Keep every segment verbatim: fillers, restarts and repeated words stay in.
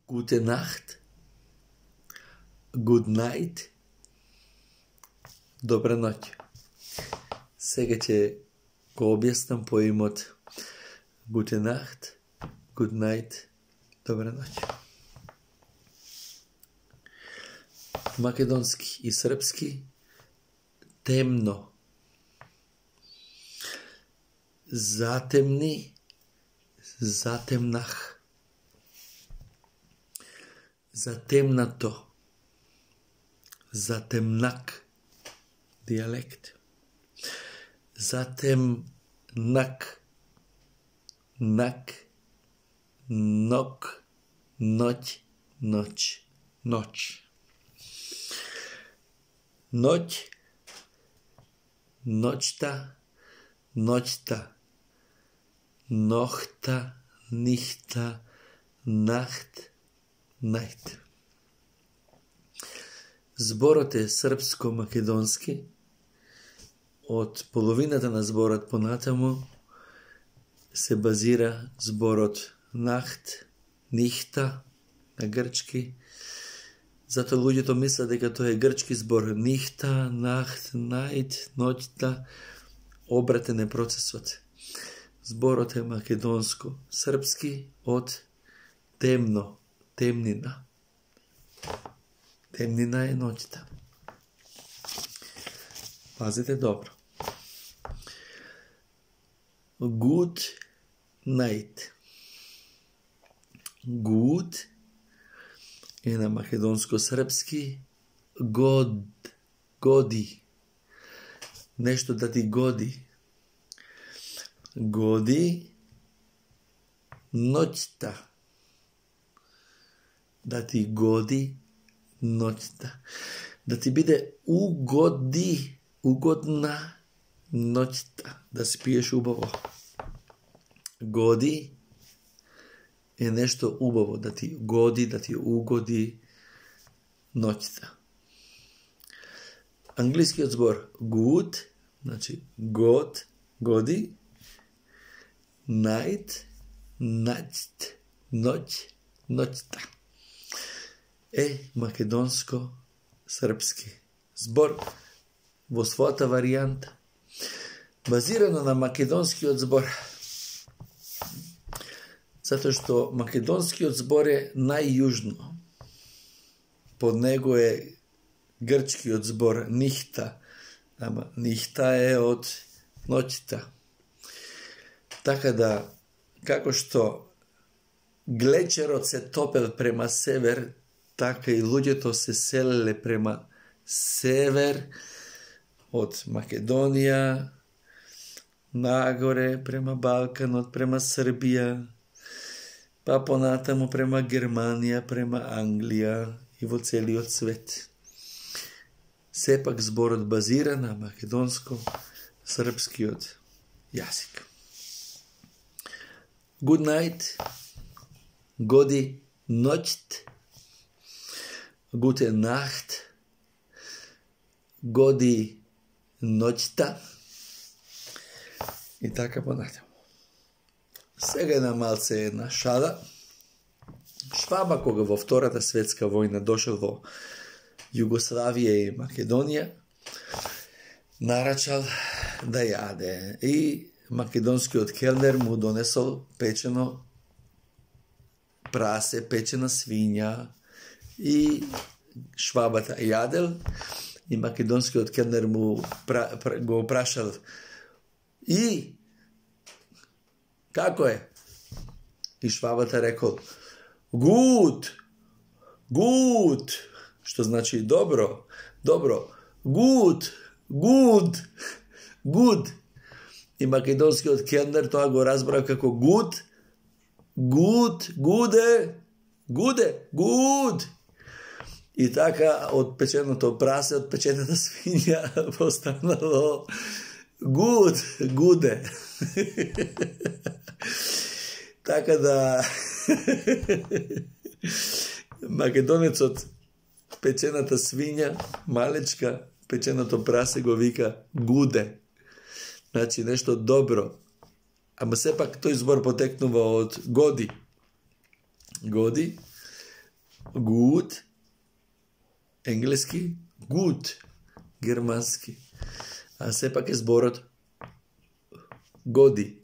Gute Nacht, Good night, добра ноќ. Сега ќе го објаснам поимот Gute Nacht, Good night, добра ноќ. Македонски и српски темно. Затемни, затемнах. Затемнато, затемнак, диалект. Затемнак, нак, нок, ноќ, ноќ, ноќ. Ноќ, ноќта, ноќта, нохта, нихта, нахт, најт. Зборот е српско-македонски. Од половината на зборот понатаму се базира зборот нахт, нихта на грчки. Затоа луѓето мислат дека тоа е грчки збор. Нихта, нахт, најт, ноќта. Обратен е процесот. Зборот е македонско. Српски од темно, темнина. Темнина е ноќта. Пазите добро. Good night. Good е на македонско-српски год, годи. Нешто да ти годи. Годи ноќта. Да ти годи ноќта. Да ти биде угоди, угодна ноќта. Да спиеш убаво. Годи е нешто убаво. Да ти годи, да ти угоди ноќта. Англискиот збор good, значи god, годи, night, наќт, ноќ, ноќта. Е македонско-српски збор во својата варијанта, базирано на македонскиот збор. Затоа што македонскиот збор е најјужно. Под него е грчкиот збор нихта, ама нихта е од ноќта. Така да, како што глечерот се топел према север, така и луѓето се селеле према север, од Македонија, нагоре, према Балканот, према Србија, па понатаму према Германија, према Англија и во целиот свет. Сепак зборот базира на македонско-српскиот јазик. Good night, годи ноќт, Gute Nacht, годи ноќта и така понатаму. Сега една малце една шала. Шваба кога во Втората светска војна дошел во Југославија и Македонија, нарачал да јаде и македонскиот келнер му донесол печено прасе, печена свиња и швабата јадел и македонскиот келнер му пра, пра, го прашал и како е? И швабата рекол good, good, што значи добро, добро, good, good, good. И македонскиот келнер тоа го разбра како good, good, гуде, гуде, good. И така од печеното прасе, од печената свиња постанало good, гуде. Така да македонецот печената свиња, малечка, печеното прасе го вика гуде. Значи нешто добро. Ама сепак тој збор потекнува од годи. Годи, good, енглески, good, германски. А сепак е зборот годи,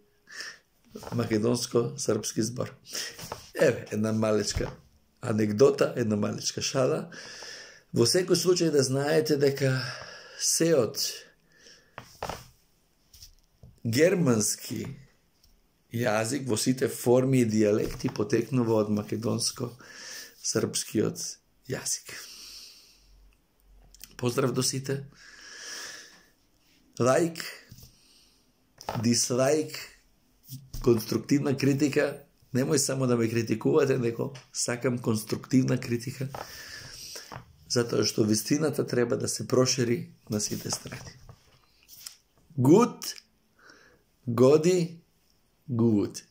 македонско-српски збор. Еве, една малечка анекдота, една малечка шала. Во секој случај да знаете дека сеот германски јазик во сите форми и дијалекти потекнува од македонско-српскиот јазик. Поздрав до сите. Лайк, дислайк, конструктивна критика. Немој само да ме критикувате, неко сакам конструктивна критика, затоа што вистината треба да се прошири на сите страни. Good, годи, good.